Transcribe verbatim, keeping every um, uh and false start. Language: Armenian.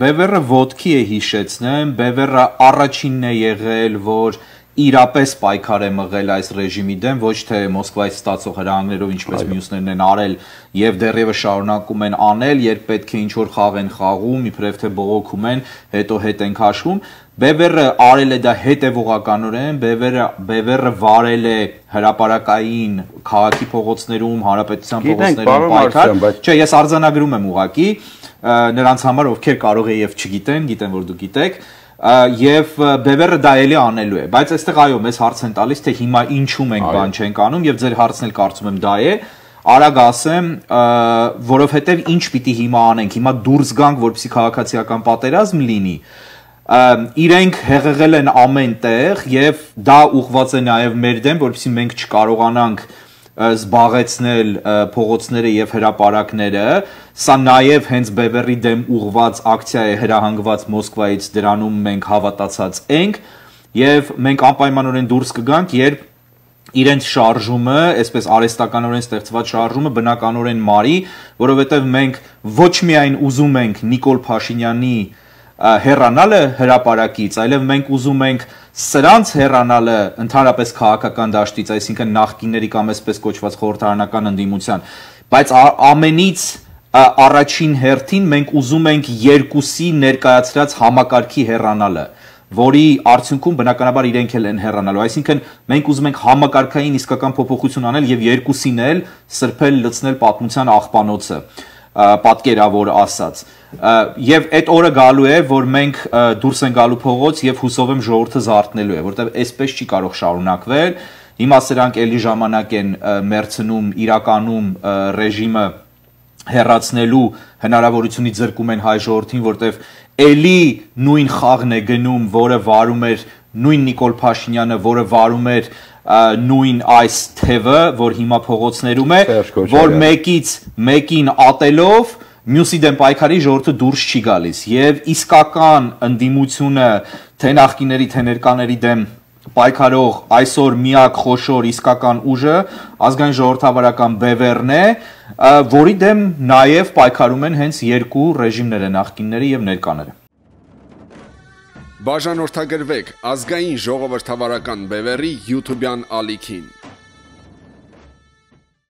Բևերը ոտքի է հիշեցնեմ, Բևերը առաջինն է եղել, որ իրապես պայքար է մղել այս ռեժիմի դեմ, ոչ թե Մոսկվայից ստացող հրահանգներով, ինչպես մյուսներն են արել եւ դեռևս շարունակում են անել, երբ պետք է ինչ-որ խաղ են խաղում, իբրև թե բողոքում են, հետո հետ են քաշվում։ Բևերը արել է դա հետևողականորեն, Բևերը Բևերը վարել է հրապարակային քաղաքի փողոցներում, հանրապետության փողոցներում պայքար։ Չէ, ես արձանագրում եմ ուղղակի նրանց համար, ովքեր կարող է եւ չգիտեն, գիտեն որ դուք գիտեք, եւ Բևերը դա էլի անելու է, բայց այստեղ այո, մեզ հարց են տալիս, թե հիմա ինչու մենք բան չենք անում եւ ձեր հարցն էլ կարծում եմ դա է, արագ ասեմ, որովհետեւ ինչ պիտի հիմա անենք, հիմա դուրս գանք, որպեսզի քաղաքացիական պատերազմ լինի, իրենք հեղեղել են ամեն տեղ եւ դա ուղղված է նաեւ մեր դեմ, որպեսզի մենք չկարողանանք զբաղեցնել փողոցները եւ հրապարակները, սա նաեւ հենց Բևերի դեմ ուղղված ակցիա է հրահանգված Մոսկվայից, դրանում մենք հավատացած ենք եւ մենք անպայմանորեն դուրս կգանք, երբ իրենց շարժումը, այսպես արհեստականորեն ստեղծված շարժումը բնականորեն մարի, որովհետեւ մենք ոչ միայն ուզում ենք Նիկոլ Փաշինյանի հեռանալը հրապարակից, այլև մենք ուզում ենք սրանց հեռանալը ընդհանրապես քաղաքական դաշտից, այսինքն նախկինների կամ այսպես կոչված խորհրդարանական ընդդիմության, բայց ամենից առաջին հերթին մենք ուզում ենք երկուսի ներկայացրած համակարգի հեռանալը, որի արդյունքում բնականաբար իրենք էլ են հեռանալու, այսինքն մենք ուզում ենք համակարգային իսկական փոփոխություն անել եւ երկուսին էլ սրբել լցնել պատմության աղբանոցը, պատկերավոր ասած, եւ այդ օրը գալու է, որ մենք դուրս են գալու փողոց եւ հուսով եմ ժողովուրդը զարթնելու է, որտեղ այսպես չի կարող շարունակվել, հիմա սրանք էլի ժամանակ են մերցնում իրականում ռեժիմը հեռացնելու հնարավորությունից զրկում են հայ ժողովրդին, որտեղ էլի նույն խաղն է գնում, որը վարում էր նույն Նիկոլ Փաշինյանը, որը վարում էր նույն այս թևը, որ հիմա փողոցներում է, որ մեկից մեկին ատելով մյուսի դեմ պայքարի ժողովուրդը դուրս չի գալիս եւ իսկական ընդդիմությունը թե նախկիների թե ներկաների դեմ պայքարող այսօր միակ խոշոր իսկական ուժը ազգային ժողովրդավարական Բևերն է, որի դեմ նաեւ պայքարում են հենց երկու ռեժիմները, նախկինները եւ ներկաները։ Բաժանորդագրվեք ազգային ժողովրդավարական Բևերի YouTube-յան ալիքին։